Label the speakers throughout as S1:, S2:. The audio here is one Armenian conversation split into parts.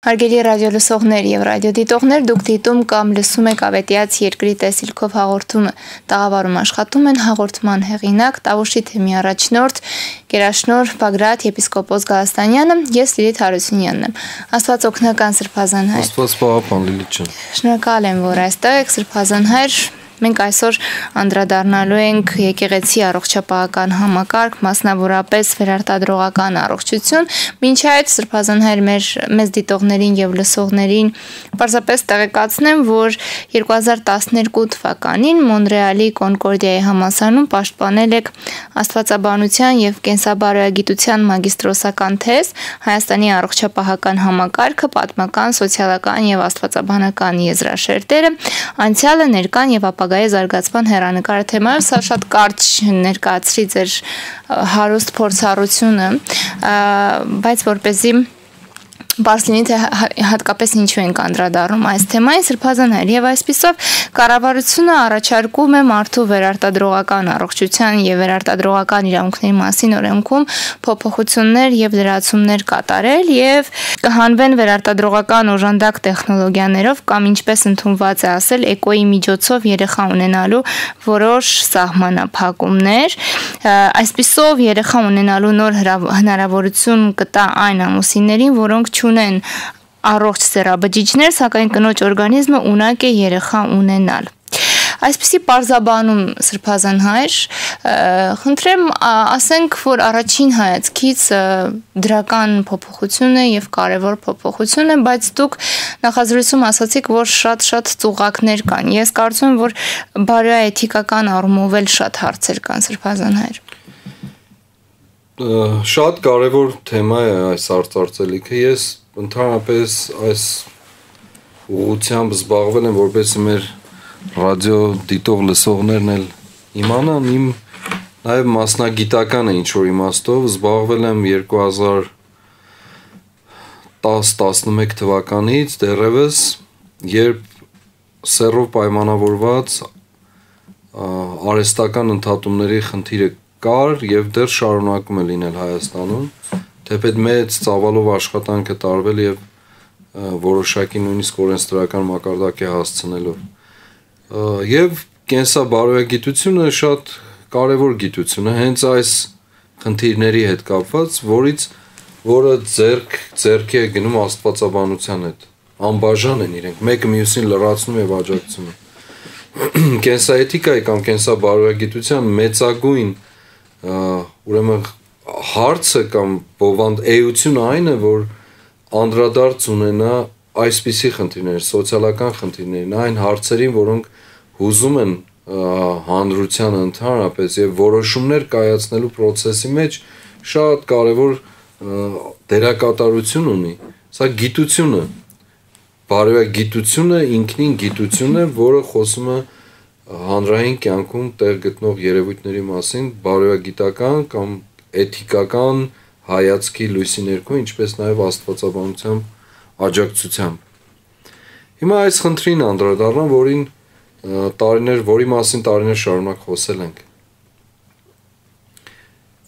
S1: Հարգելի ռադիոլսողներ եւ ռադիոդիտողներ, դուք դիտում կամ լսում եք Ավետիաց երկրի տեսիլքով հաղորդումը։ Տաղավարում աշխատում են հաղորդման հեղինակ Տավուշի թեմի առաջնորդ Գերաշնորհ Բագրատ եպիսկոպոս Գալստանյանը, ես Լիլիթ Հարությունյանն եմ։ Աստված օգնական Սրբազան հայր։
S2: Աստված պահապան Լիլիթ ջան։
S1: Շնորհակալ եմ, որ այստեղ եք Սրբազան հայր։ Մենք այսօր անդրադառնալու ենք եկեղեցի առողջապահական համակարգ, մասնավորապես վերարտադրողական առողջություն։ Մինչ այդ Սրբազան հայր մեզ դիտողներին եւ լսողներին պարզապես տեղեկացնեմ, որ 2012 թվականին Մոնրեալի Կոնկորդիայի համալսարանում պաշտպանել եք աստվածաբանության եւ կենսաբարոյագիտության մագիստրոսական թեզ Հայաստանի առողջապահական համակարգը, պատմական, սոցիալական եւ աստվածաբանական եզրաշերտերը, անցյալը, ներկան եւ ապագայի զարգացման հեռանկարը թեմայով։ Սա շատ կարճ ներկայացրի ձեր հարուստ փորձառությունը, բայց որպեսզի բարձ լինի թե հատկապես ինչու ենք անդրադառնում այս թեմային Սրբազան հայր, եւ այսպիսով կառավարությունը առաջարկում է մարդու վերարտադրողական առողջության եւ վերարտադրողական իրավունքների մասին օրենքում փոփոխություններ եւ լրացումներ կատարել եւ կհանվեն վերարտադրողական օժանդակ տեխնոլոգիաներով կամ ինչպես ընդունված է ասել էկոյի միջոցով երեխա ունենալու որոշ սահմանափակումներ։ Այսպիսով երեխա ունենալու նոր հնարավորություն կտա այն ամուսիններին, որոնք չունեն առողջ սեռաբջիջներ, սակայն կնոջ օրգանիզմը ունակ է երեխա ունենալ։ Այսպիսի պարզաբանում Սրբազան հայր, խնդրեմ ասենք, որ առաջին հայացքից դրական փոփոխություն է եւ կարեւոր փոփոխություն է, բայց դուք նախազրույցում ասացիք, որ շատ ծուղակներ կան։ Ես կարծում եմ, որ բարոյաէթիկական առումով էլ շատ հարցեր կան Սրբազան հայր։
S2: Շատ կարևոր թեմա է այս արծարծելիքը։ Ես ընդհանրապես այս ուղղությամբ զբաղվել եմ, որպեսզի մեր ռադիո դիտող լսողներն էլ իմանան, իմ նաև մասնագիտական է ինչ-որ իմաստով, զբաղվել եմ 2010-11 թվականից դեռևս, երբ սեռով պայմանավորված արհեստական ընդհատումների խնդիրը կար եւ դեռ շարունակում է լինել Հայաստանում, թեպետ մեծ ծավալով աշխատանք է տարվել եւ որոշակի նույնիսկ օրենսդրական մակարդակ է հասցնելով։ Եվ կենսաբարոյագիտությունը շատ կարևոր գիտություն է հենց այս խնդիրների հետ կապված, որը ձեռքի է գնում աստվածաբանության հետ։ Անբաժան են իրենք, մեկը մյուսին լրացնում եւ աջակցում է։ Կենսաէթիկայի կամ կենսաբարոյագիտության մեծագույն ուրեմն հարցը կամ էությունը այն է, որ անդրադարձ ունենա այսպիսի խնդիրներ, սոցիալական խնդիրներին, այն հարցերին, որոնք հուզում են հանրությանը ընդհանրապես եւ որոշումներ կայացնելու process-ի մեջ շատ կարեւոր դերակատարություն ունի։ Սա գիտություն է, բարոյագիտությունը ինքնին գիտություն է, որը խոսում է հանրային կյանքում տեղ գտնող երևույթների մասին բարոյագիտական կամ էթիկական հայացքի լույսի ներքո, ինչպես նաև աստվածաբանության աջակցությամբ։ Հիմա այս խնդրին անդրադառնամ, որի մասին տարիներ շարունակ խոսել ենք։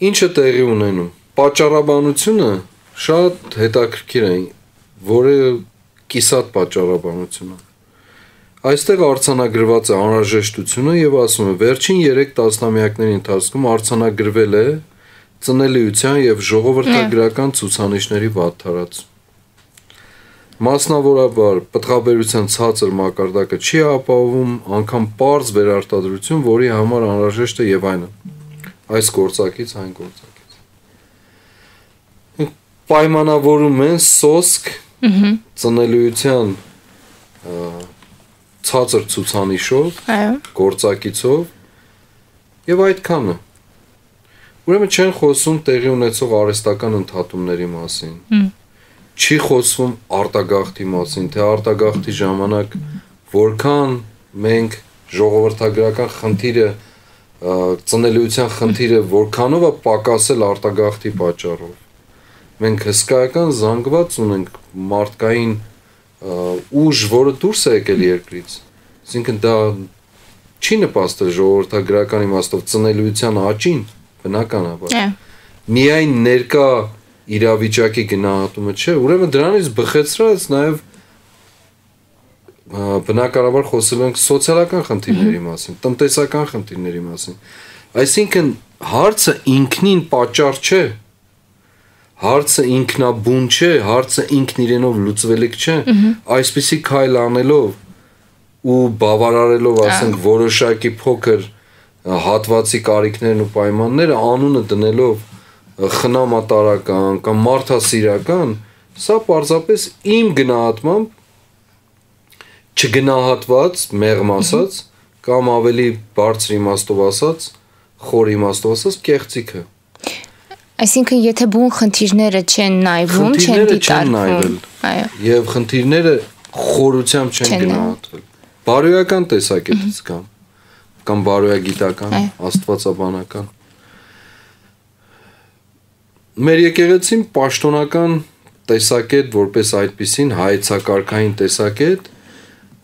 S2: Ինչը տեղի ունենում։ Պատճառաբանությունը շատ հետաքրքիր է, որը կիսատ պատճառաբանություն է։ Այստեղ արձանագրված է անհրաժեշտությունը եւ ասում է վերջին 3 տասնամյակների ընթացքում արձանագրվել է ծնելիության եւ ժողովրդագրական ցուցանիշների վատթարացում։ Մասնավորաբար պտղաբերության ցածր մակարդակը չի ապահովում անգամ պարզ վերարտադրություն, որի համար անհրաժեշտ է եւ այնը։ Այս գործակից այն գործակից։ Պայմանավորում են սոսկ ծնելիության ցածր ցուցանիշով, գործակիցով եւ այդքանը։ Ուրեմն չեն խոսում տեղի ունեցող արհեստական ընդհատումների մասին։ Չի խոսվում արտագաղթի մասին, թե արտագաղթի ժամանակ որքան մենք ժողովրդագրական խնդիրը, ծնելիության խնդիրը որքանով է պակասել արտագաղթի պատճառով։ Մենք հսկայական զանգված ունենք մարդկային ուժ, որը դուրս է եկել երկրից։ Այսինքն դա չի նպաստել ժողովրդագրական իմաստով ծնելիության աճին, բնականաբար։ Միայն ներկա իրավիճակի գնահատումը չէ, ուրեմն դրանից բխեցրած նաև բնականաբար խոսել ենք սոցիալական խնդիրների մասին, տնտեսական խնդիրների մասին։ Այսինքն հարցը ինքնին պատճառ չէ, հարցը ինքնաբուն չէ, հարցը ինքն իրենով լուծվելիք չէ, այսպիսի քայլ անելով ու բավարարելով, ասենք, որոշակի փոքր հատվածի կարիքներն ու պայմանները անունը դնելով խնամատարական կամ մարդասիրական, սա պարզապես իմ գնահատմամբ չգնահատված, մեղմ ասած, կամ ավելի բարձր իմաստով ասած, խոր իմաստով ասած, կեղծիք է։
S1: Այսինքն, եթե բուն խնդիրները չեն նայվում, չեն դիտարկվում, այո,
S2: եւ խնդիրները խորությամբ չեն գնահատվել։ Բարոյական տեսակետից կամ բարոյագիտական, աստվածաբանական։ Մեր եկեղեցին պաշտոնական տեսակետ որպես այդպիսին հայեցակարգային տեսակետ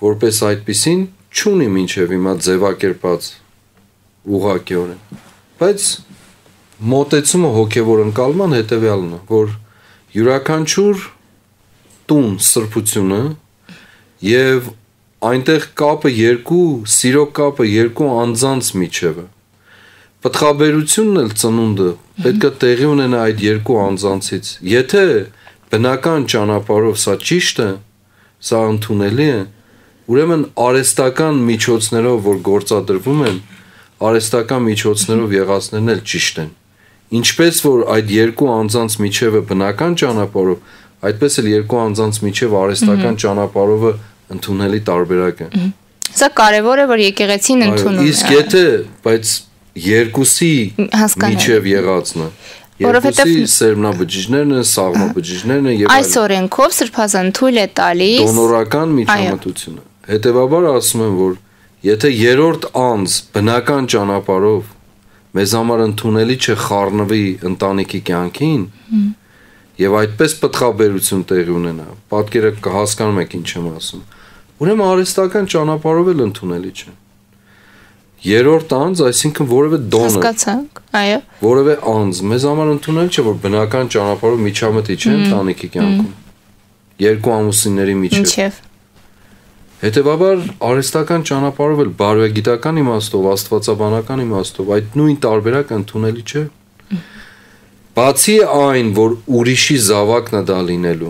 S2: որպես այդպիսին չունի մինչև հիմա ձևակերպած ուղղակիորեն, բայց մոտեցումը հոգևոր ընկալման հետևյալն է, որ յուրաքանչյուր տուն սրբությունը եւ այնտեղ կապը սիրո կապը երկու անձանց միջև է։ Պտղաբերությունն էլ ծնունդը պետք է տեղի ունենա այդ երկու անձանցից։ Եթե բնական ճանապարհով սա ճիշտ է, սա ընդունելի է, ուրեմն արհեստական միջոցներով, որ գործադրվում են, արհեստական միջոցներով եղածներն էլ ճիշտ են։ Ինչպես որ այդ երկու անձանց միջևը բնական ճանապարհով, այդպես էլ երկու անձանց միջև արհեստական ճանապարհովը ընդունելի տարբերակ է։
S1: Սա կարևոր է, որ եկեղեցին ընդունում է։
S2: Իսկ եթե, բայց երկուսի միջև եղածն է, երկուսի սերմնաբջիջներն են, սաղմաբջիջներն են եւ
S1: այս օրենքով Սրբազան թույլ է տալիս
S2: դոնորական միջամտությունը։ Հետևաբար ասում եմ, որ եթե երրորդ անձ բնական ճանապարհով մեզ համար ընդունելի չէ խառնվի ընտանիքի կյանքին եւ այդպես պտղաբերություն տեղի ունենա, պատկերը կհասկանում եք ինչ եմ ասում, ուրեմն արհեստական ճանապարհով էլ ընդունելի չէ։ Երրորդ անձ, այսինքն որևէ դոնոր,
S1: հասկացանք, այո,
S2: որևէ անձ մեզ համար ընդունելի չէ, որ բնական ճանապարհով միջամտի չէ ընտանիքի կյանքում։ Երկու ամուսինների միջև։ Հետևաբար արհեստական ճանապարհով էլ բարոյագիտական իմաստով, աստվածաբանական իմաստով այդ նույն տարբերակը ընդունելի չէ։ Բացի այն, որ ուրիշի զավակն է դա լինելու,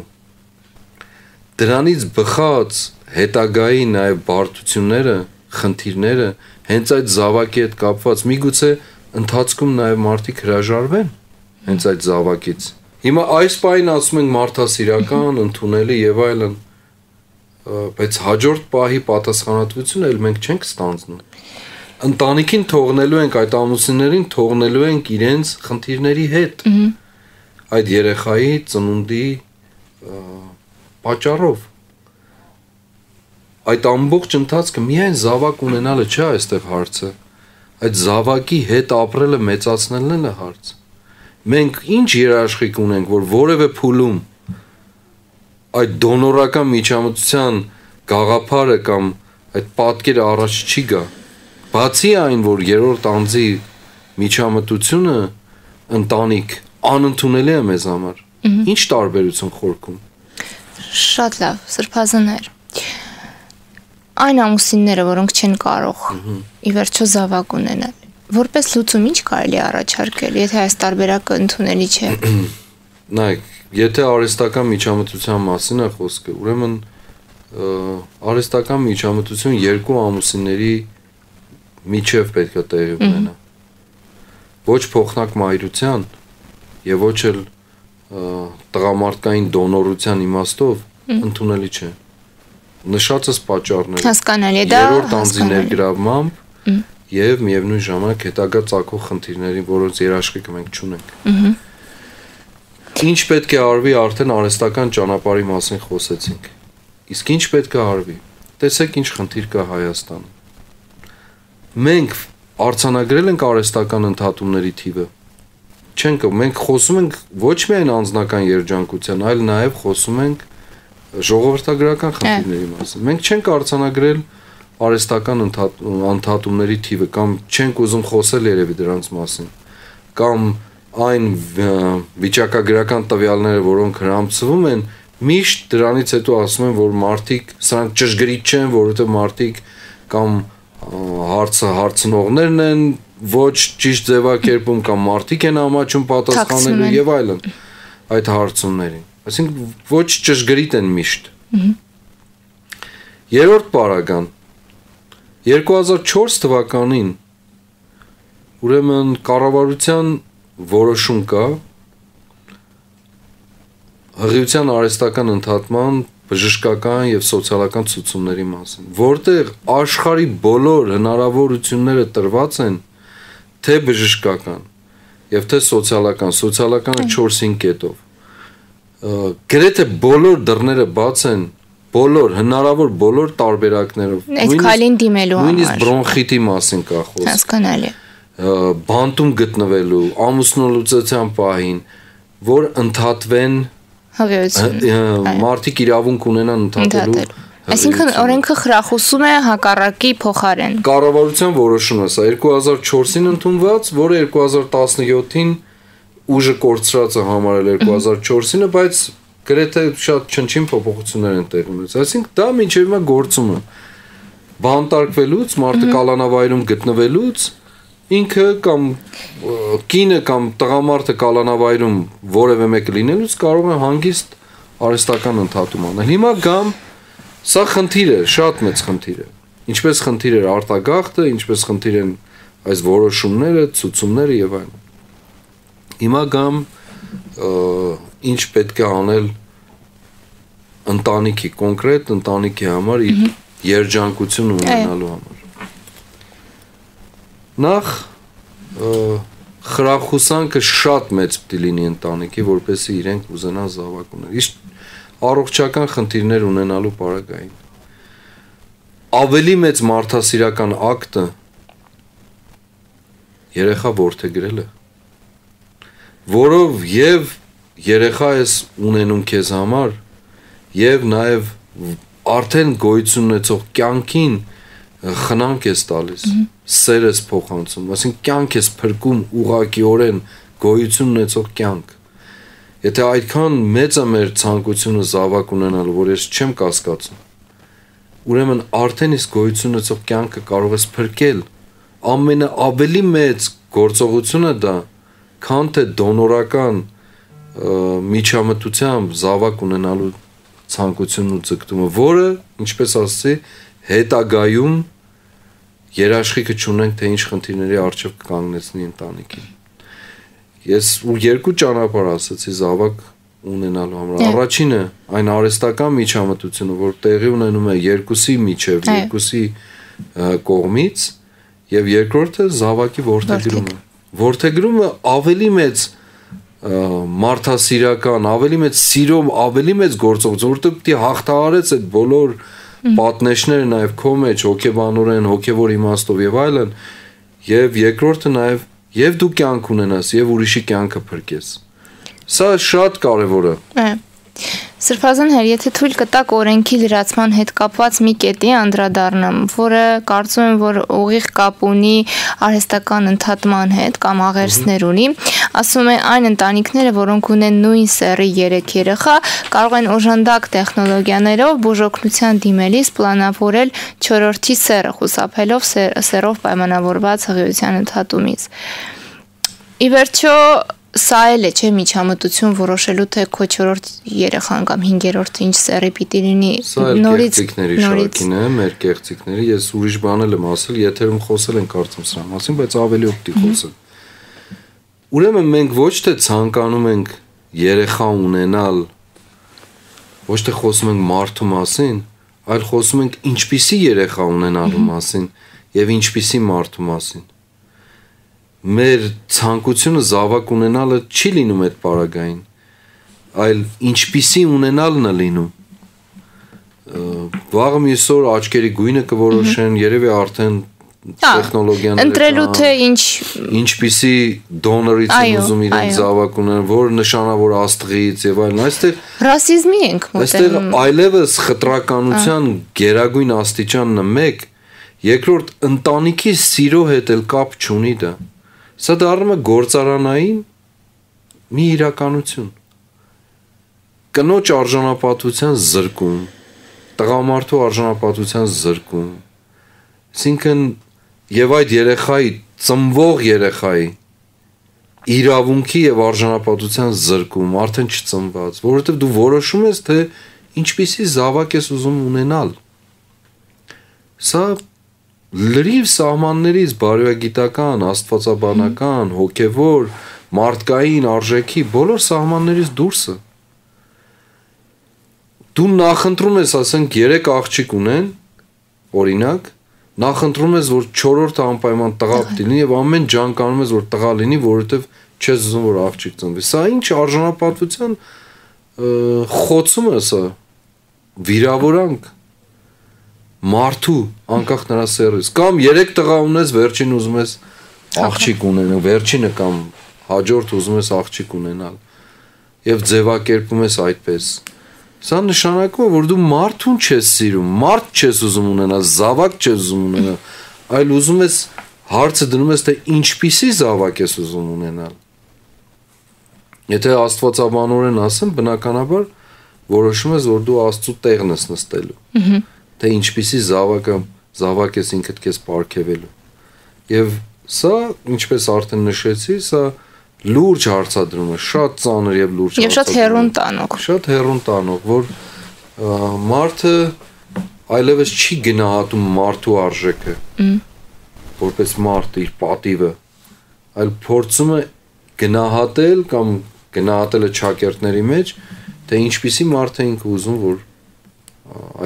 S2: դրանից բխած հետագայի նաև բարդությունները, խնդիրները հենց այդ զավակի հետ կապված, միգուցե ընթացքում նաև մարդիկ հրաժարվեն հենց այդ զավակից։ Հիմա այս պահին ասում ենք մարդասիրական, ընդունելի եւ այլն, բայց հաջորդ պահի պատասխանատվությունը էլ մենք չենք ստանձնում։ Ընտանիքին թողնելու ենք, այդ ամուսիններին թողնելու ենք իրենց խնդիրների հետ։ Այդ երեխայի ծնունդի պատճառով։ Այդ ամբողջ ընթացքը միայն զավակ ունենալը չէ այստեղ հարցը, այդ զավակի հետ ապրելը մեծացնելն է հարց։ Մենք ինչ երաշխիք ունենք, որ որևէ փուլում այդ դոնորական միջամտության գաղափարը կամ այդ պատկերը առաջ չի գա, բացի այն, որ երրորդ անձի միջամտությունը ընտանիք անընդունելի է մեզ համար։ Ինչ տարբերություն խորքում։
S1: Շատ լավ, սրբազաններ։ Այն ամուսինները, որոնք չեն կարող ի վերջո զավակ ունենալ, որպես լուծում ինչ կարելի է առաջարկել, եթե այս տարբերակը ընդունելի չէ։
S2: Նայեք, եթե արհեստական միջամտության մասին է խոսքը, ուրեմն արհեստական միջամտություն երկու ամուսինների միջև պետք է տեղի ունենա։ Ոչ փոխնակ մայրության եւ ոչ էլ տղամարդկային դոնորության իմաստով ընդունելի չէ։ Նշածս պատճառները
S1: հասկանալի է դա
S2: երրորդ անձի ներգրավմամբ եւ միևնույն ժամանակ հետագա ծագող խնդիրների, որոնց երաշխիքը մենք չունենք։ Ինչ պետք է արվի, արդեն արհեստական ճանապարհի մասին խոսեցինք։ Իսկ ինչ պետք է արվի։ Տեսեք ինչ խնդիր կա Հայաստանում։ Մենք արձանագրել ենք արհեստական ընդհատումների թիվը։ Չենք, մենք խոսում ենք ոչ միայն անձնական երջանկության, այլ նաեւ խոսում ենք ժողովրդագրական խնդիրների մասին։ Մենք չենք արձանագրել արհեստական ընդհատումների թիվը կամ չենք ուզում խոսել երևի դրանց մասին, կամ այն վիճակագրական տվյալները, որոնք հրամցվում են, միշտ դրանից հետո ասում են, որ մարդիկ սրանք ճշգրիտ չեն, որովհետև մարդիկ կամ հարցնողներն են ոչ ճիշտ ձևակերպում կամ մարդիկ են ամաչում պատասխանելու եւ այլն այդ հարցումներին։ Այսինքն ոչ ճշգրիտ են միշտ։ Երրորդ պարագան 2004 թվականին ուրեմն կառավարության որոշում կա հղիության արհեստական ընդհատման բժշկական եւ սոցիալական ցուցումների մասին, որտեղ աշխարհի բոլոր հնարավորությունները տրված են թե բժշկական եւ թե սոցիալականը 4-5 կետով։ Գրեթե բոլոր դռները բաց են բոլոր հնարավոր բոլոր տարբերակներով։
S1: Այդ քալին դիմելու համար։
S2: Նույնիսկ բրոնխիտի մասին կա խոսք։
S1: Հասկանալի։
S2: Բանտում գտնվելու, ամուսնալուծության պահին, որ ընդհատվեն մարդիկ իրավունք ունենան ընդհատելու։
S1: Այսինքն օրենքը խրախուսում է հակառակի փոխարեն։
S2: Կառավարության որոշումը սա 2004-ին ընդունված, որը 2017-ին ուժը կորցրածը համարել 2004-ին, բայց գրեթե շատ չնչին փոփոխություններ են տեղի ունեցել։ Այսինքն դա մինչև հիմա գործում է։ Բանտարկվելուց, մարդը կալանավայրում գտնվելուց ինքը կամ կինը կամ տղամարդը կալանավայրում որևէ մեկը լինելուց կարող է հանգիստ արհեստական ընդհատում անել։ Հիմա գամ սա խնդիր է, շատ մեծ խնդիր է։ Ինչպես խնդիր է արտագաղթը, ինչպես խնդիր են այս որոշումները, ցուցումները եւ այլն։ Հիմա գամ ինչ պետք է անել ընտանիքի կոնկրետ ընտանիքի համար իր երջանկություն ունենալու համար։ Նախ խրախուսանքը շատ մեծ պիտի լինի ընտանիքի, որպեսզի իրենք ուզենան զավակ ունել։ Իսկ առողջական խնդիրներ ունենալու պարագային ավելի մեծ մարդասիրական ակտը երեխա որդեգրելը, որով եւ երեխա ես ունենում քեզ համար եւ նաեւ արդեն գոյություն ունեցող կյանքին խնամք ես տալիս, սեր ես փոխանցում, այսինքն կյանք ես փրկում ուղղակիորեն գոյություն ունեցող կյանք։ Եթե այդքան մեծ է մեր ցանկությունը զավակ ունենալու, որ ես չեմ կասկածում, ուրեմն արդեն իսկ գոյություն ունեցող կյանքը կարող ես փրկել։ Ամենաավելի մեծ գործողությունը դա, քան թե դոնորական միջամտությամբ զավակ ունենալու ցանկությունն ու ձգտումը, որը, ինչպես ասացի, հետագայում երաշխիքը չունենք, թե ինչ խնդիրների առջև կանգնեցնի ընտանիքին։ Ես երկու ճանապարհ ասացի զավակ ունենալու համար։ Առաջինը այն արհեստական միջամտությունը, որ տեղի ունենում է երկուսի միջև, երկուսի կողմից, եւ երկրորդը զավակի որդեգրումը։ Որդեգրումը ավելի մեծ մարդասիրական, ավելի մեծ սիրով, ավելի մեծ գործողություն, որտեղ պիտի հաղթահարես այդ բոլոր պատնեշները նաև քո մեջ, հոգեբանորեն, հոգևոր իմաստով եւ այլն, եւ երկրորդը նաև եւ դու կյանք ունենաս եւ ուրիշի կյանքը փրկես։ Սա շատ կարեւոր է։
S1: Սրբազան հեր, եթե թույլ կտակ օրենքի լրացման հետ կապված մի կետի անդրադառնամ, որը կարծում եմ, որ ուղիղ կապ ունի արհեստական ընդհատման հետ կամ աղերսներ ունի, ասում է այն ընտանիքները, որոնք ունեն նույն սեռի 3 երեխա, կարող են օժանդակ տեխնոլոգիաներով բուժօգնության դիմելիս պլանավորել 4-րդի սեռը, խուսափելով սեռով պայմանավորված հղիության ընդհատումից։ Ի վերջո սա էլ է չէ միջամտություն որոշելու թե քո 4-րդ երեխան կամ 5-րդը ինչ սեռի պիտի լինի
S2: նորից շարքին է մեր կեղծիքների ես ուրիշ բան եմ ասել եթերում խոսել են կարծում սրա մասին բայց ավելի օգտի խոսել ուրեմն մենք ոչ թե ցանկանում ենք երեխա ունենալ ոչ թե խոսում ենք մարդու մասին այլ խոսում ենք ինչպիսի երեխա ունենալու մասին եւ ինչպիսի մարդու մասին մեր ցանկությունը զավակ ունենալը չի լինում այդ պարագային, այլ ինչպիսի ունենալն է լինում։ Վաղը մյուսօր աչքերի գույնը կորոշեն, երևի արդեն տեխնոլոգիաները
S1: ընտրելու թե
S2: ինչպիսի դոնորից են ուզում իրեն զավակ ունենալ, որ նշանավոր աստղից եւ այլն, այստեղ
S1: ռասիզմի ենք մոտենում։
S2: Այստեղ այլևս խտրականության գերագույն աստիճանն է մեկ, երկրորդ ընտանիքի սիրո հետ էլ կապ չունի դա։ Սա դառնում է գործարանային մի իրականություն։ Կնոջ արժանապատվության զրկում, տղամարդու արժանապատվության զրկում, այսինքն եւ այդ երեխայի, ծնվող երեխայի իրավունքի եւ արժանապատվության զրկում, արդեն չծնված, որովհետեւ դու որոշում ես, թե ինչպիսի զավակ ես ուզում ունենալ։ Սա լրիվ սահմաններից բարոյագիտական, աստվածաբանական, հոգևոր, մարդկային արժեքի բոլոր սահմաններից դուրս է։ Դու նախընտրում ես, ասենք 3 աղջիկ ունեն, օրինակ, նախընտրում ես, որ 4-րդը անպայման տղա պիտի լինի եւ ամեն ջանկանում ես, որ տղա լինի, որովհետեւ չես ուզում, որ աղջիկ ծնվի։ Սա ինչ արժանապատվության խոցում է սա, վիրավորանք մարդու անկախ նրա սեռից, կամ 3 տղա ունես, վերջին ուզում ես աղջիկ ունենալ, վերջինը կամ հաջորդ ուզում ես աղջիկ ունենալ եւ ձևակերպում ես այդպես։ Սա նշանակում է, որ դու մարդուն չես սիրում, մարդ չես ուզում ունենալ, զավակ չես ուզում ունենալ, այլ ուզում ես հարցը դնում ես, թե ինչպիսի զավակ ես ուզում ունենալ։ Եթե աստվածաբանորեն ասեմ, բնականաբար որոշում ես, որ դու Աստծո տեղն ես նստելու։ Թե ինչպիսի զավակ ես ինքդ քեզ պարգևելու։ Եվ սա, ինչպես արդեն նշեցի, սա լուրջ հարցադրում է, շատ ծանր եւ լուրջ հարցադրում։ Եվ
S1: շատ հեռուն տանող։
S2: Շատ հեռուն տանող, որ մարդը այլևս չի գնահատում մարդու արժեքը, որպես մարդ իր պատիվը, այլ փորձում է գնահատել կամ գնահատել է ճակերտների մեջ, թե ինչպիսի մարդ է ինքը ուզում, որ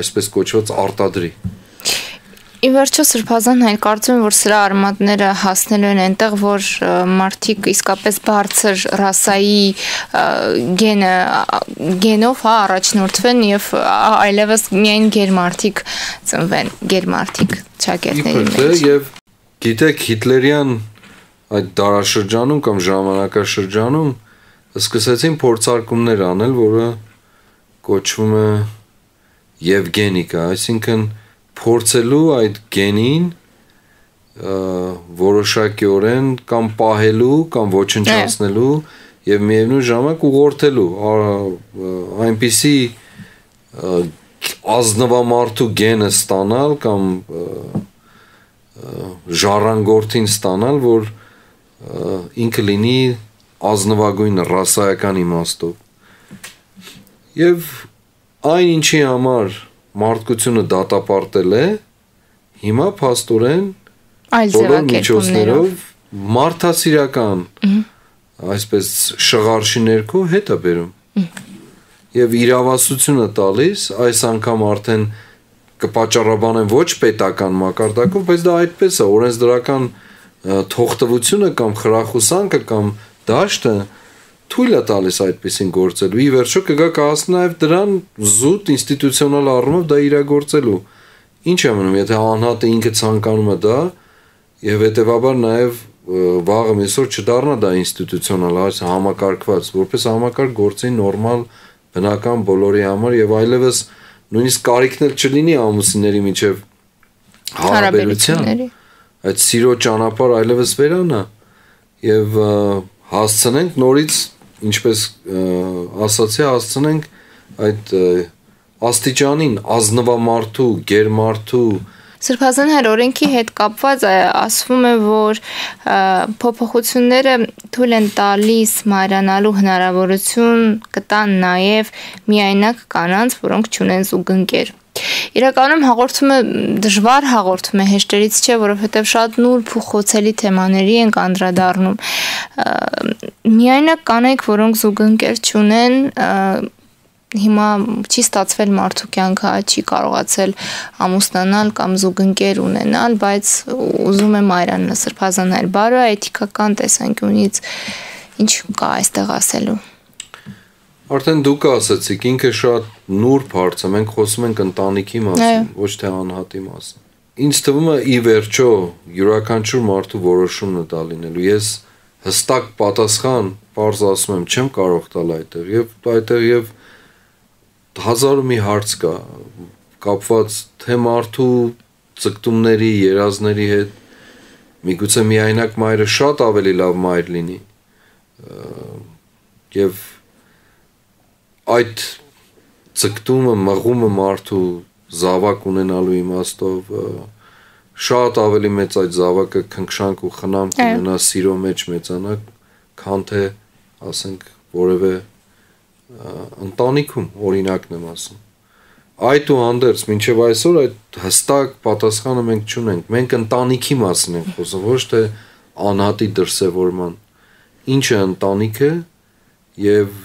S2: այսպես կոչված արտադրի։
S1: Ի վերջո Սրբազան հայր կարծում եմ, որ սրա արմատները հասնելու են այնտեղ, որ մարդիկ իսկապես բարձր ռասայի գենով առաջնորդվեն եւ այլևս միայն գերմարդիկ ծնվեն, գերմարդիկ ճակերտների մեջ։
S2: Եվ գիտեք Հիտլերյան այդ դարաշրջանում կամ ժամանակաշրջանում սկսեցին փորձարկումներ անել, որը կոչվում է Եվգենիկա, այսինքն փորձելու այդ գենին որոշակիորեն կամ պահելու կամ ոչնչացնելու եւ միևնույն ժամանակ ուղղորդելու այնպիսի ազնվամարտու գենը ստանալ կամ ժառանգորդին ստանալ, որ ինքը լինի ազնվագույն ռասայական իմաստով։ Եվ այն ինչի համար մարդկությունը դատապարտել է, հիմա փաստորեն բոլոր միջոցներով մարդասիրական այսպես շղարշի ներքո հետ է բերում։ Եվ իրավասությունը տալիս, այս անգամ արդեն կպատճառաբանեն ոչ պետական մակարդակով, բայց դա այդպես է, օրենսդրական թողտվությունը կամ խրախուսանքը կամ դաշտը թույլ է տալիս այդպեսին գործելու։ Ի վերջո կգա կհասնի նաև դրան զուտ ինստիտուցիոնալ առումով դա իրագործելու։ Ինչ է մնում, եթե անհատը ինքը ցանկանում է դա, եւ հետեւաբար նաև վաղը այսօր չդառնա դա ինստիտուցիոնալ, այս համակարգված, որպես համակարգ գործի նորմալ բնական բոլորի համար եւ այլևս նույնիսկ կարիքն էլ չլինի ամուսինների միջև հարաբերության։ Այդ սիրո ճանապարհ այլևս վերանա եւ հասցնենք նորից, ինչպես ասացի, հասցնենք այդ աստիճանին ազնվամարտու, գերմարտու
S1: Սրբազան հայր օրենքի հետ կապված ասվում է, որ փոփոխությունները թույլ են տալիս մայրանալու հնարավորություն կտան նաև միայնակ կանանց, որոնք չունեն զուգընկեր։ Իրականում հաղորդումը դժվար հաղորդում է, հեշտերից չէ, որովհետև շատ նուրբ ու խոցելի թեմաների ենք անդրադառնում։ Միայնակ կանայք, որոնք զուգընկեր չունեն, հիմա չի ստացվել մարդու կյանքը, չի կարողացել ամուսնանալ կամ զուգընկեր ունենալ, բայց ուզում է մայրանալ Սրբազան հայր բարոյ էթիկական տեսանկյունից ինչ կա այստեղ ասելու։
S2: Արդեն դուք ասացիք, ինքը շատ նուրբ հարց է, մենք խոսում ենք ընտանիքի մասին, ոչ թե անհատի մասին։ Ինձ թվում է ի վերջո յուրաքանչյուր մարդու որոշումն է դա լինելու։ Ես հստակ պատասխան, պարզ ասում եմ, չեմ կարող տալ այդտեղ եւ հազար ու մի հարց կա կապված թե մարդու ցկտումների, երազների հետ, միգուցե միայնակ մայրը շատ ավելի լավ մայր լինի, եւ այդ ցկտումը մղումը մարդու զավակ ունենալու իմաստով շատ ավելի մեծ այդ զավակը քնքշանք ու խնամք ունենա սիրո մեջ մեծանա, քան թե ասենք որևէ ընտանիքում օրինակն եմ ասում։ Այդուհանդերձ մինչև այսօր այդ հստակ պատասխանը մենք չունենք։ Մենք ընտանիքի մասին ենք խոսում, ոչ թե անհատի դրսևորման։ Ինչ է ընտանիքը եւ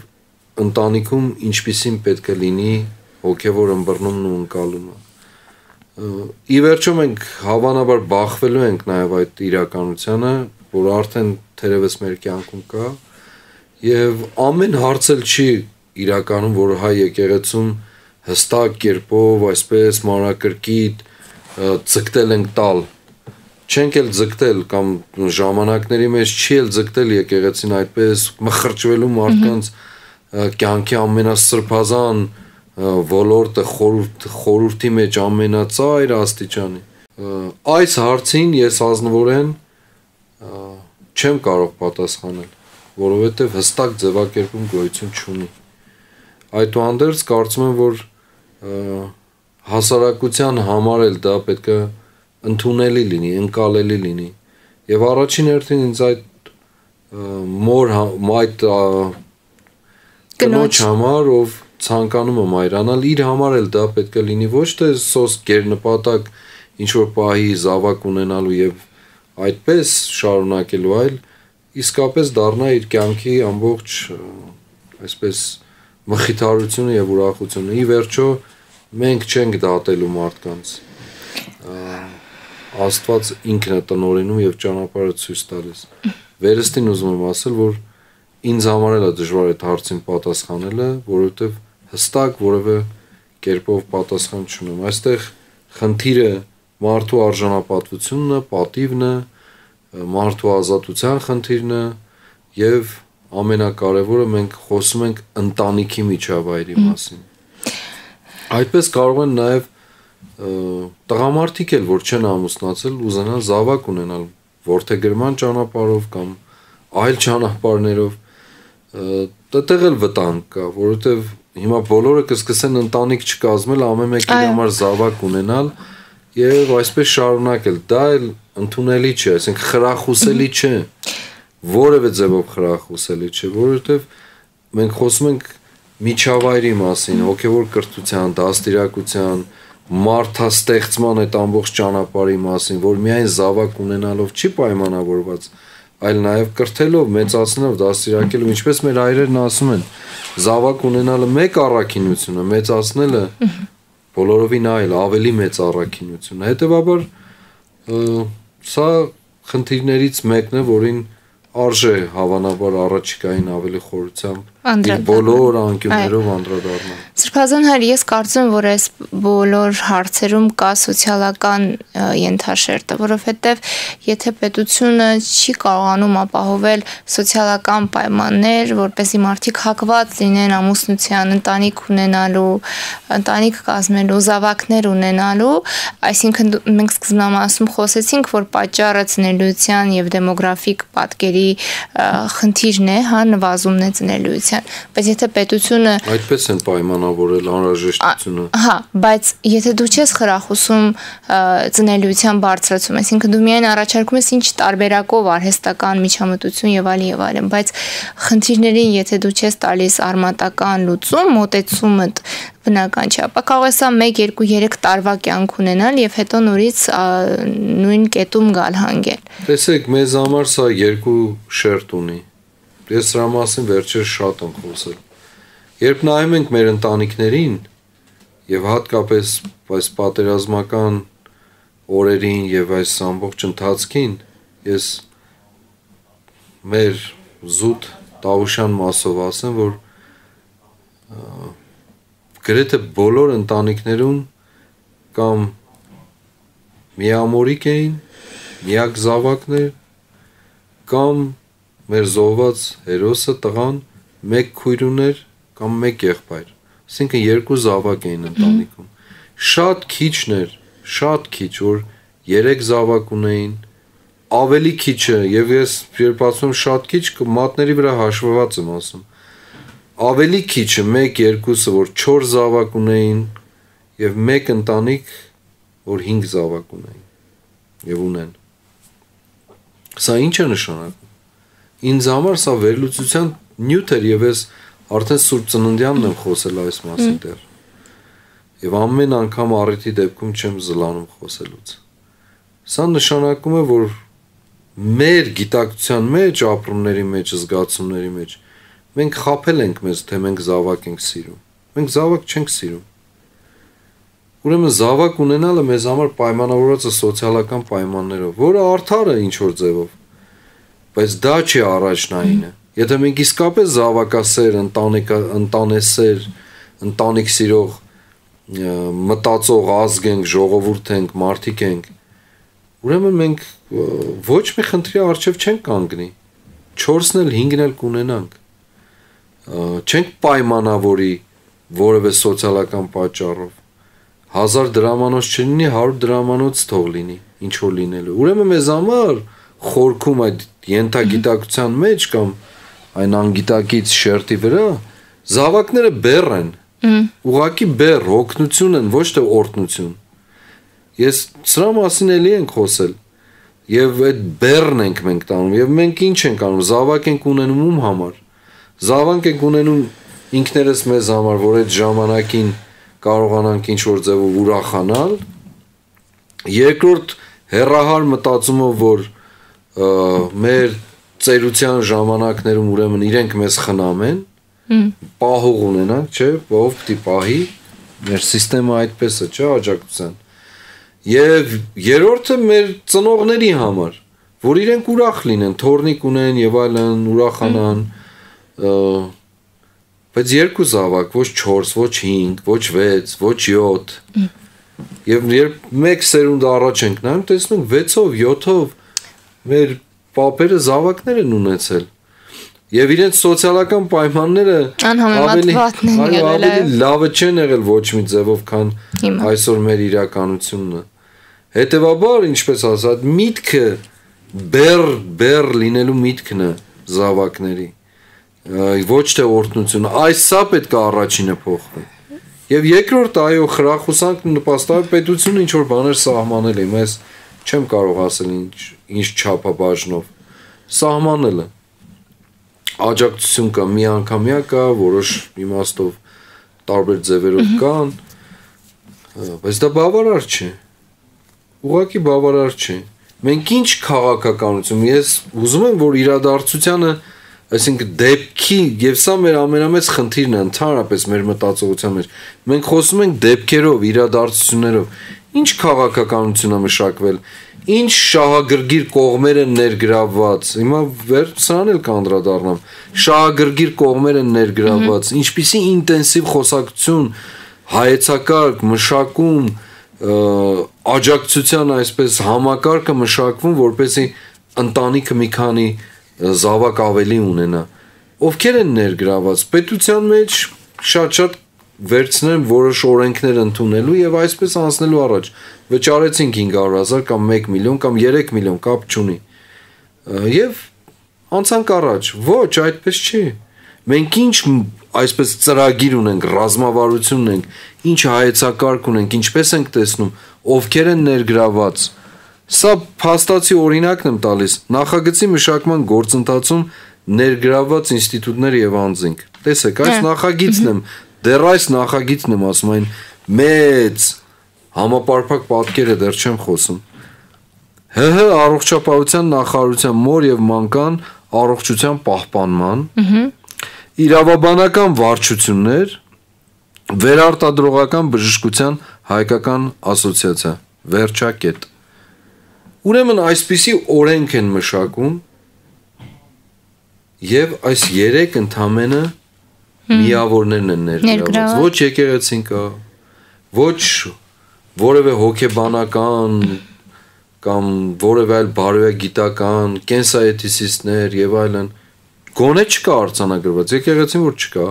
S2: ընտանիքում ինչպիսին պետք է լինի հոգեվոր ըմբռնումն ու ընկալումը։ Ի վերջո մենք հավանաբար բախվելու ենք նաեւ այդ իրականությանը, որ արդեն թերևս մեր կյանքում կա եւ ամեն հարց էլ չի իրականում, որ հայ եկեղեցում հստակ կերպով այսպես մանրակրկիտ ձգտել ենք տալ, չենք էլ ձգտել կամ ժամանակների մեջ չի էլ ձգտել եկեղեցին այդպես մխրճվելու մարդկանց կյանքի ամենասրբազան ոլորտը խորհրդի մեջ ամենածայր աստիճանի։ Այս հարցին ես ազնվորեն չեմ կարող պատասխանել, որովհետև հստակ ձևակերպում գոյություն չունի։ Այդուհանդերձ կարծում եմ, որ հասարակության համար էլ դա պետք է ընդունելի լինի, ընկալելի լինի։ Եվ առաջին հերթին ինձ այդ այդ կնոջ համար, ով ցանկանում է մայրանալ, իր համար էլ դա պետք է լինի ոչ թե սոսկ գերնպատակ ինչ որ պահի զավակ ունենալու եւ այդպես շարունակելու, այլ իսկապես դառնա իր կյանքի ամբողջ այսպես մխիթարությունը եւ ուրախությունը։ Ի վերջո մենք չենք դատելու մարդկանց։ Աստված ինքն է տնօրինում եւ ճանապարհը ցույց տալիս։ Վերստին ուզում եմ ասել, որ ինձ համար էլ է դժվար այդ հարցին պատասխանելը, որովհետեւ հստակ որևէ կերպով պատասխան չունեմ։ Այստեղ խնդիրը մարդու արժանապատվությունն է, պատիվն է, մարդու ազատության խնդիրն է եւ ամենակարևորը մենք խոսում ենք ընտանիքի միջավայրի մասին։ Այդպես կարող են նաեւ տղամարդիկ էլ, որ չեն ամուսնացել, ուզենան զավակ ունենալ որդեգրման ճանապարհով կամ այլ ճանապարհներով, դեռ էլ վտանգ կա, որովհետեւ հիմա բոլորը կսկսեն ընտանիք չկազմել, ամեն մեկի համար զավակ ունենալ եւ այսպես շարունակել։ Դա էլ ընդունելի չէ, այսինքն խրախուսելի չէ, որևէ ձևով խրախուսելի չէ, որովհետեւ մենք խոսում ենք միջավայրի մասին, հոգեվոր կրթության, դաստիարակության, մարդաստեղծման այդ ամբողջ ճանապարհի մասին, որ միայն զավակ ունենալով չի պայմանավորված, այլ նաև կրթելով, մեծացնելով, դաստիարակելով, ինչպես մեր հայրերն ասում են, զավակ ունենալը մեկ առաքինություն է, մեծացնելը բոլորովին այլ, ավելի մեծ առաքինություն է։ Հետևաբար սա խնդիրներից մեկն է, որին արժե հավանաբար առաջիկային ավելի խորությամբ իր բոլոր անկյուններով անդրադառնալ։
S1: Սրբազան հայր, ես կարծում եմ, որ այս բոլոր հարցերում կա սոցիալական ենթաշերտը, որովհետև եթե պետությունը չի կարողանում ապահովել սոցիալական պայմաններ, որպեսզի մարդիկ հակված լինեն ամուսնության, ընտանիք ունենալու, ընտանիք կազմելու, զավակներ ունենալու, այսինքն մենք սկզբնամասում խոսեցինք, որ պատճառը ծնելիության եւ դեմոգրաֆիկ պատկերի խնդիրն է, հա, նվազումն է ծնելիության, բայց եթե պետությունը
S2: այդպես են պայմանավորել անհրաժեշտությունը։
S1: Հա, բայց եթե դու չես խրախուսում ծնելիության բարձրացում, այսինքն դու միայն առաջարկում ես ինչ տարբերակով արհեստական միջամտություն եւ այլն, բայց խնդիրներին եթե դու չես տալիս արմատական լուծում, մոտեցումդ բնական չէ, ապա կարող է սա 1, 2, 3 տարվա կյանք ունենալ եւ հետո նորից նույն կետում գալ հանգել։
S2: Տեսեք, մեզ համար սա երկու շերտ ունի։ Ես դրա մասին վերջերս շատ եմ խոսել։ Երբ նայում ենք մեր ընտանիքներին եւ հատկապես այս պատերազմական օրերին եւ այս ամբողջ ընթացքին, ես մեր զուտ Տավուշյան մասով ասեմ, որ գրեթե բոլոր ընտանիքներում կամ միամորիկ էին, միակ զավակներ, կամ մեր զոհված հերոսը տղան մեկ քույր ուներ կամ մեկ եղբայր, այսինքն 2 զավակ էին ընտանիքում։ Շատ քիչներ, շատ քիչ, որ 3 զավակ ունեին, ավելի քիչը, եւ ես երբ ասում եմ շատ քիչ, մատների վրա հաշվված եմ ասում, ավելի քիչը 1-2-ը որ 4 զավակ ունեին եւ 1 ընտանիք որ 5 զավակ ունեին եւ ունեն։ Սա ինչ է նշանակում։ Ինձ համար սա վերլուծության նյութ էր եւ ես արդեն Սուրբ Ծննդյանն եմ խոսել այս մասին դեռ։ Եվ ամեն անգամ առիթի դեպքում չեմ զլանում խոսելուց։ Սա նշանակում է, որ մեր գիտակցության մեջ, ապրումների մեջ, զգացումների մեջ մենք խաբել ենք մեզ, թե մենք զավակ ենք սիրում։ Մենք զավակ չենք սիրում։ Ուրեմն զավակ ունենալը մեզ համար պայմանավորված է սոցիալական պայմաններով, որը արդար է ինչ որ ձևով, բայց դա չի առաջնայինը։ Եթե մենք իսկապես զավակասեր, ընտանեսեր, ընտանիք սիրող, մտածող ազգ ենք, ժողովուրդ ենք, մարդիկ ենք, ուրեմն մենք ոչ մի խնդրի առջև չենք կանգնի, 4-ն էլ 5-ն էլ կունենանք, չենք պայմանավորի որևէ սոցիալական պատճառով, 1000 դրամանոց չլինի, 100 դրամանոց թող լինի, ինչ որ լինելու։ Ուրեմն մեզ համար խորքում այդ ենթագիտակցության մեջ կամ այն անգիտակից շերտի վրա զավակները բեռ են, ուղղակի բեռ, հոգնություն են, ոչ թե օրհնություն։ Ես սրա մասին էլի ենք խոսել եւ այդ բեռն ենք մենք տանում եւ մենք ինչ ենք անում, զավակ ենք ունենում ում համար։ Զավակ ենք ունենում ինքներս մեզ համար, որ այդ ժամանակին կարողանանք ինչ որ ձևով ուրախանալ։ Երկրորդ հերահար մտածումով, որ մեր ծերության ժամանակներում ուրեմն իրենք մեզ խնամեն, պահող ունենանք, չէ, ով պիտի պահի, մեր համակարգը այդպես է, չէ, աջակցության։ Եվ երրորդը մեր ծնողների համար, որ իրենք ուրախ լինեն, թորնիկ ունեն եւ այլն, ուրախանան, բայց 2 զավակ, ոչ 4, ոչ 5, ոչ 6, ոչ 7։ Եվ երբ 1 սերունդ առաջ ենք նայում, տեսնում 6-ով, 7-ով մեր պապերը զավակներ են ունեցել։ Եվ իրենց սոցիալական պայմանները ավելի լավը չեն եղել ոչ մի ձևով, քան այսօր մեր իրականությունն է։ Հետևաբար, ինչպես ասած, միտքը բեռ լինելու միտքն է զավակների։ Ոչ թե օրհնություն, այս սա պետք է առաջինը փոխվի։ Եվ երկրորդ այո, խրախուսանք նպաստավոր պետությունը ինչ որ բաներ սահմանել է, ես չեմ կարող ասել ինչ չափաբաժնով։ Սահմանելը աջակցություն կա, միանգամյա կա, որոշ իմաստով տարբեր ձևերով կան, բայց դա բավարար չէ։ Ուղղակի բավարար չէ։ Մենք ինչ քաղաքականություն, ես ուզում եմ, որ իրադարձությանը այսինքն դեպքի եւ սա մեր ամենամեծ խնդիրն է ընդհանրապես մեր մտածողության մեջ։ Մենք խոսում ենք դեպքերով, իրադարձություններով։ Ինչ քաղաքականություն է մշակվել, ինչ շահագրգիռ կողմեր են ներգրավված։ Հիմա սրան էլ կանդրադառնամ։ Շահագրգիռ կողմեր են ներգրավված, ինչպիսի ինտենսիվ խոսակցություն, հայեցակարգ, մշակում, աջակցության այսպես համակարգը մշակվում, որպեսզի ընտանիքը մի քանի զավակ ավելի ունենա։ Ովքեր են ներգրաված պետության մեջ շատ վերցնեն որոշ օրենքներ ընդունելու եւ այսպես անցնելու առաջ։ Վճարեցինք 500,000 կամ 1 միլիոն կամ 3 միլիոն, կապ չունի։ Եվ անցանք առաջ։ Ոչ, այդպես չի։ Մենք ինչ այսպես ծրագիր ունենք, ռազմավարություն ունենք, ինչ հայեցակարգ ունենք, ինչպես ենք տեսնում, ովքեր են ներգրաված։ Սա փաստացի օրինակն եմ տալիս նախագծի մշակման գործընթացում ներգրաված ինստիտուտներ եւ անձինք։ Տեսեք, այս նախագիծն եմ, դեռ այս նախագիծն եմ ասում, այն մեծ համապարփակ պատկերը դեռ չեմ խոսում։ ՀՀ առողջապահության նախարարության մոր եւ մանկան առողջության պահպանման իրավաբանական վարչություններ վերարտադրողական բժշկության հայկական ասոցիացիա վերջակետ։ Ուրեմն այսպիսի օրենք են մշակում եւ այս 3 ընդամենը միավորներն են ներգրաված։ Ոչ եկեղեցին կա, ոչ որևէ հոգեբանական կամ որևէ այլ բարոյագիտական, կենսաէթիսիստներ եւ այլն, գոնե չկա արձանագրված, եկեղեցին որ չկա,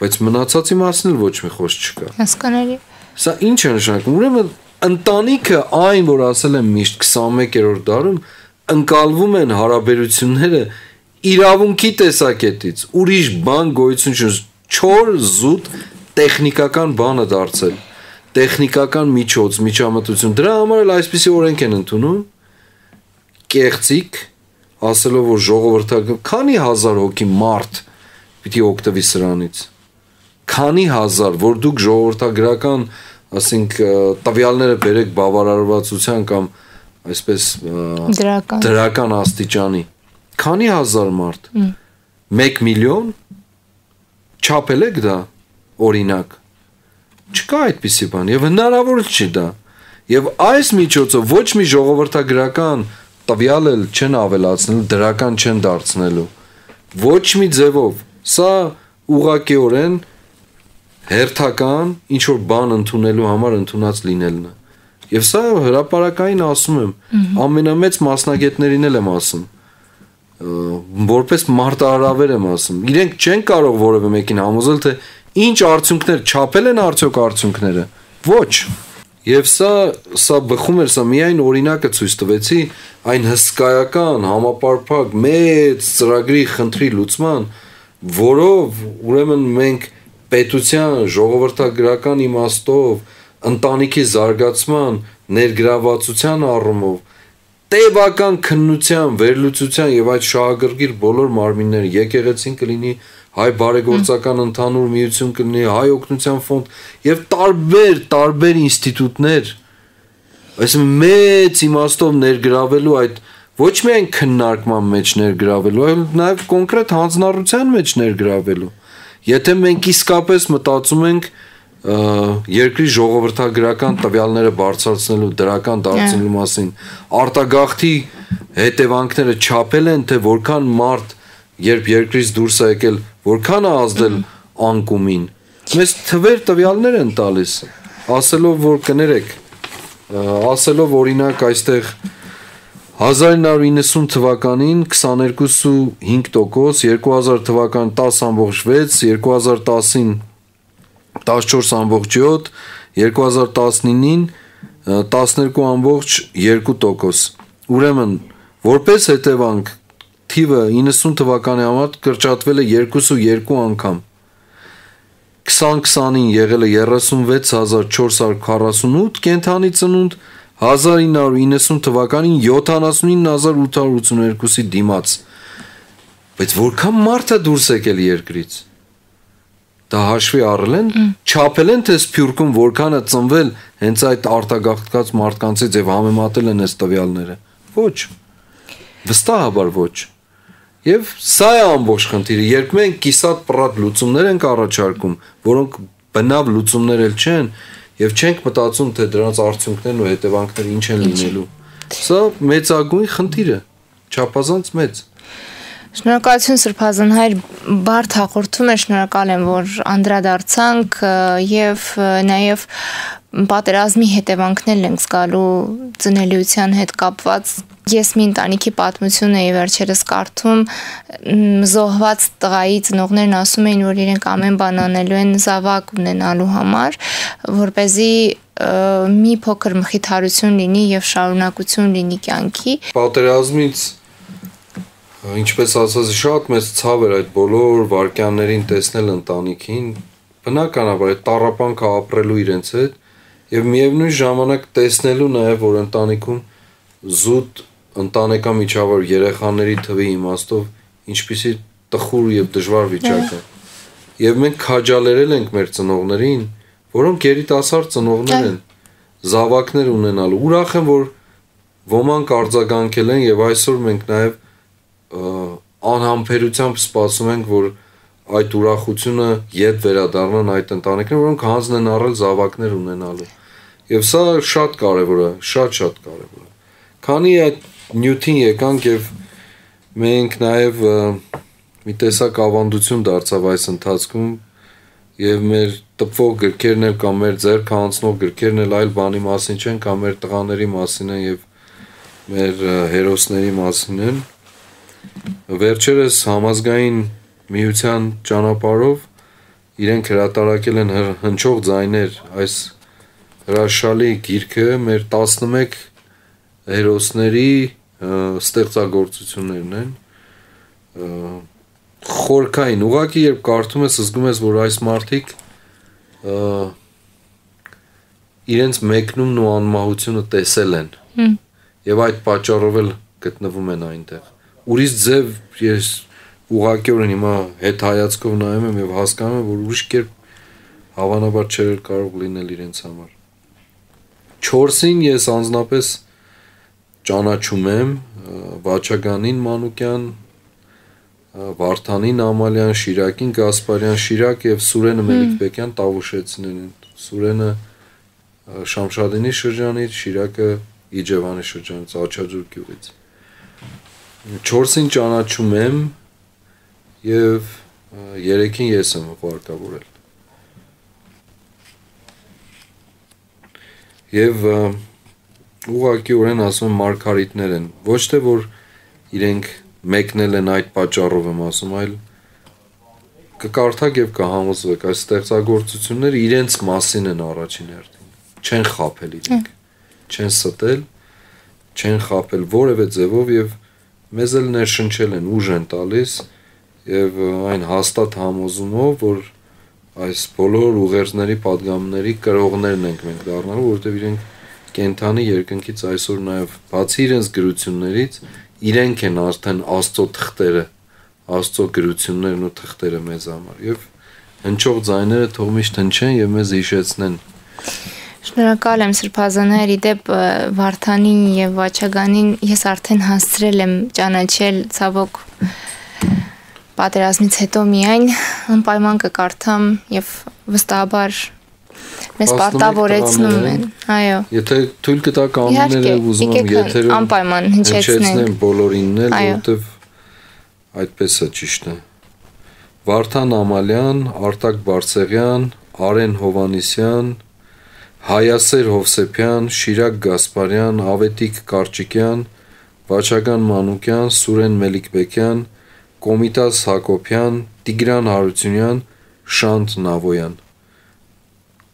S2: բայց մնացածի մասին էլ ոչ մի խոսք չկա։
S1: Հասկանալի։
S2: Սա ինչ է նշանակում։ Ուրեմն ընտանիքը այն, որ ասել եմ միշտ 21-րդ դարում ընկալվում են հարաբերությունները իրավունքի տեսակետից ուրիշ բան գոյություն չունի, չոր զուտ տեխնիկական բանը դարձել, տեխնիկական միջոց, միջամտություն, դրա համար էլ այսպիսի օրենք են ընդունում, կեղծիկ, ասելով, որ ժողովրդական, քանի հազար հոգի մարդ պիտի օգտվի սրանից, քանի հազար, որ դուք ժողովրդագրական, ասենք, տվյալները բերեք բավարարվածության կամ այսպես դրական աստիճանի, քանի հազար մարդ, 1 միլիոն, չափել եք դա, օրինակ, չկա այդպիսի բան, և հնարավոր չի դա, և այս միջոցով ոչ մի ժողովրդագրական տվյալ էլ չեն ավելացնելու, դրական չեն դարձնելու, ոչ մի ձևով, սա ուղղակիորեն հերթական ինչ-որ բան ընդունելու համար ընդունած լինելն է, և սա հրապարակային ասում եմ, ամենամեծ մասնագետներին էլ եմ ասում, որպես մարտահրավեր եմ ասում, իրենք չեն կարող որևէ մեկին համոզել, թե ինչ արդյունքներ, չափել են արդյոք արդյունքները, ոչ, և սա բխում էր, սա միայն օրինակը ցույց տվեցի այն հսկայական, համապարփակ, մեծ ծրագրի խնդրի լուծման, որով ուրեմն մենք պետության, ժողովրդագրական իմաստով, ընտանիքի զարգացման, ներգրավվածության առումով, տևական քննության, վերլուծության եւ այդ շահագրգիռ բոլոր մարմինները, եկեղեցին կլինի, հայ բարեգործական ընդհանուր միություն կլինի, հայ օգնության ֆոնդ եւ տարբեր ինստիտուտներ, այսինքն մեծ իմաստով ներգրավելու այդ ոչ միայն քննարկման մեջ ներգրավելու, այլ նաեւ կոնկրետ հանձնառության մեջ ներգրավելու։ Եթե մենք իսկապես մտածում ենք երկրի ժողովրդագրական տվյալները բարձրացնելու, դրական դարձնելու մասին, արտագաղթի հետևանքները չափել են, թե որքան մարդ, երբ երկրից դուրս է եկել, որքան է ազդել անկումին, մեզ թվեր տվյալներ են տալիս, ասելով, որ կներեք, ասելով օրինակ այստեղ 1990 թվականին 22.5%, 2000 թվական 10.6, 2010-ին 14.7, 2019-ին 12.2%։ Ուրեմն, որպես հետևանք, թիվը 90 թվականի համար կրճատվել է 2.2 անգամ։ 2020-ին եղել է 36448 կենթանի ծնունդ, 1990 թվականին 79882-ի դիմաց։ Բայց որքան մարդ է դուրս եկել երկրից։ Դա հաշվի առել են, չափել են, թե Սփյուռքում որքան է ծնվել հենց այդ արտագաղթած մարդկանցից եւ համեմատել են այս տվյալները։ Ոչ։ Վստահաբար ոչ։ Եվ սա է ամբողջ խնդիրը, երբ մենք կիսատ պռատ լուծումներ ենք առաջարկում, որոնք բնավ լուծումներ էլ չեն, եւ չենք մտածում, թե դրանց արդյունքներն ու հետևանքները ինչ են լինելու։ Սա մեծագույն խնդիր է, չափազանց մեծ։
S1: Շնորհակալություն Սրբազան հայր, բարդ հաղորդում է, շնորհակալ եմ, որ անդրադարձանք եւ նաեւ պատերազմի հետևանքներն ենք զգալու ծնելիության հետ կապված։ Ես մի ընտանիքի պատմություն էի վերջերս կարդում, զոհված տղայի ծնողներն ասում էին, որ իրենք ամեն բան անելու են զավակ ունենալու համար, որպեսզի մի փոքր մխիթարություն լինի եւ շարունակություն լինի կյանքի։
S2: Պատերազմից ինչպես ասած շատ մեծ ցավ էր այդ բոլոր վարքյաններին տեսնել ընտանիքին, բնականաբար այդ տառապանքը ապրելու իրենց հետ եւ միևնույն ժամանակ տեսնելու նաեւ որ ընտանիքում զուտ ընտանեկան միջավայր երեխաների թվի իմաստով ինչպիսի տխուր եւ դժվար վիճակ է։ Եվ մենք քաջալերել ենք մեր ծնողներին, որոնք երիտասարդ ծնողներ են, զավակներ ունենալու։ Ուրախ եմ որ ոմանք արձագանքել են եւ այսօր մենք նաեւ անհամբերությամբ սպասում ենք, որ այդ ուրախությունը ետ վերադառնան այդ ընտանիքները, որոնք հանձն են առել զավակներ ունենալու։ Եվ սա շատ կարևոր է, շատ կարևոր է։ Քանի այդ նյութին եկանք եւ մենք նաեւ մի տեսակ ավանդություն դարձավ այս ընթացքում եւ մեր տպվող գրքերն էլ կամ մեր ձեռք հանձնող գրքերն էլ այլ բանի մասին չեն, կամ մեր տղաների մասին են եւ մեր հերոսների մասին են։ Վերջերս համազգային միության ճանապարհով իրենք հրատարակել են հնչող ձայներ այս հրաշալի գիրքը մեր 11 հերոսների ստեղծագործություններն են խորքային, ուղղակի երբ կարդում ես, զգում ես, որ այս մարդիկ իրենց մեկնումն ու անմահությունը տեսել են եւ այդ պատճառով էլ գտնվում են այնտեղ։ Ուրիշ ձև ես ուղղակիորեն հիմա հետ հայացքով նայում եմ եւ հասկանում եմ, որ ուրիշ կերպ հավանաբար չէր կարող լինել իրենց համար։ 4-ին ես անձնապես ճանաչում եմ Վաչագանին Մանուկյան, Վարդանին Ամալյան, Շիրակին Գասպարյան, Շիրակ եւ Սուրենը Մելիքբեկյան Տավուշեցիներն են։ Սուրենը Շամշադինի շրջանից, Շիրակը Իջևանի շրջանից, Աչաջուր գյուղից։ 4-ին ճանաչում եմ եւ 3-ին ես եմ վարկավորել։ Եվ ուղղակիորեն ասում եմ մարգարիտներ են, ոչ թե որ իրենք մեկնել են այդ պատճառով եմ ասում, այլ կկարդաք եւ կհամոզվեք, այս ստեղծագործությունները իրենց մասին են առաջին հերթին, չեն խաբել իրենք, չեն ստել, չեն խաբել որևէ ձևով եւ մեզ էլ ներշնչել են, ուժ են տալիս եւ այն հաստատ համոզումով, որ այս բոլոր ուղերձների падգամների կրողներն ենք մենք դառնալու, որովհետեւ իրենք կենթանի երկնքից այսօր նաեւ բացի իրենց գրություններից իրենք են արդեն Աստծո թղթերը, Աստծո գրություններն ու թղթերը մեզ համար եւ հնչող ձայները թող միշտ հնչեն եւ մեզ հիշեցնեն։
S1: Շնորհակալ եմ Սրբազաններ, իդեպ Վարդանին եւ Վաչագանին ես արդեն հասցրել եմ ճանաչել ցավոք պատերազմից հետո միայն անպայման կկարդամ եւ վստահաբար մեզ պարտավորեցնում են, այո։ Եթե
S2: թույլ կտաք անունները ուզում եմ եթերում
S1: անպայման հնչեցնեմ
S2: բոլորինն էլ, որովհետեւ այդպես է ճիշտ է։ Վարդան Ամալյան, Արտակ Բարսեղյան, Արեն Հովանիսյան, Հայասեր Հովսեփյան, Շիրակ Գասպարյան, Ավետիք Կարճիկյան, Վաչագան Մանուկյան, Սուրեն Մելիքբեկյան, Կոմիտաս Հակոբյան, Տիգրան Հարությունյան, Շանթ Նավոյան։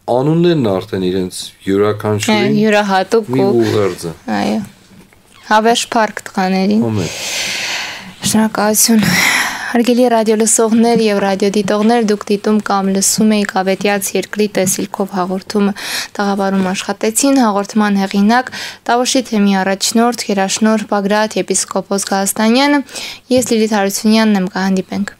S2: Անուններն արդեն իրենց յուրաքանչյուրին
S1: յուրահատուկ
S2: մի ուղերձ է։
S1: Այո։ Հավերժ փառք տղաներին։ Շնորհակալություն։ Հարգելի ռադիոլսողներ եւ ռադիոդիտողներ, դուք դիտում կամ լսում եք Ավետյաց երկրի տեսիլքով հաղորդումը տաղավարում աշխատեցին հաղորդման հեղինակ Տավուշի թեմի առաջնորդ Գերաշնորհ Բագրատ եպիսկոպոս Գալստանյանը, ես Լիլիթ Հարությունյանն եմ, կհանդիպենք